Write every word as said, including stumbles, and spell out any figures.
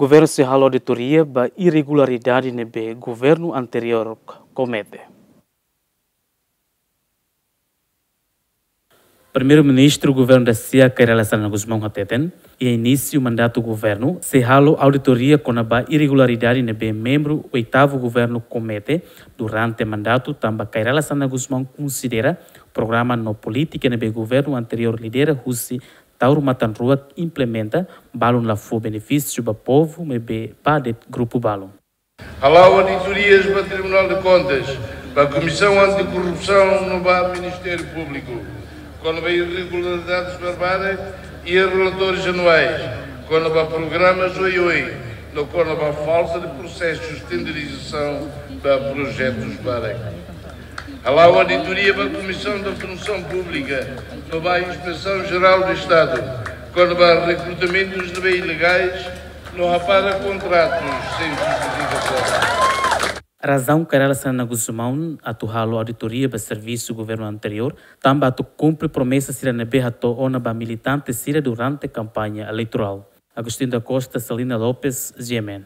Governu sei halo auditoria ba irregularidade ne'ebé governu anteriór komete. Primeiru-Ministru Governu Dacia, Kay Rala Xanana Gusmão hateten, iha inísiu mandatu governu, sei halo auditoria kona-ba irregularidade ne'ebé membru oitavu governu komete durante mandatu, tanba Kay Rala Xanana Gusmão konsidera programa no polítika ne'ebé governu anteriór lidera husi Taur Matan Ruak implementa, balun la fó benefísiu ba povu, maibé ba de'it grupu balun. Hala'o auditorias ba Tribunal de Contas, ba Comissão Anticorrupção no ba Ministério Público, kona-ba irregularidades barbarak iha relatórios anuais, kona-ba programas Oi-Oi, no kona-ba falta de processus tenderizasaun ba projetus barak. Hala'o auditoria ba Comissão da Função Pública, no ba Inspeção Geral do Estado, kona-ba rekrutamentus ne'ebé ilegais, no hapara kontratus sein justifikasaun. Razaun Kay Rala Xanana Gusmão atu halo auditoria ba servisu governu anteriór, tanba atu kumpre promesa sira ne'ebé hato'o ona ba militante sira durante kampaña eleitorál. Agostinho da Costa, Celina Lopes, G M N.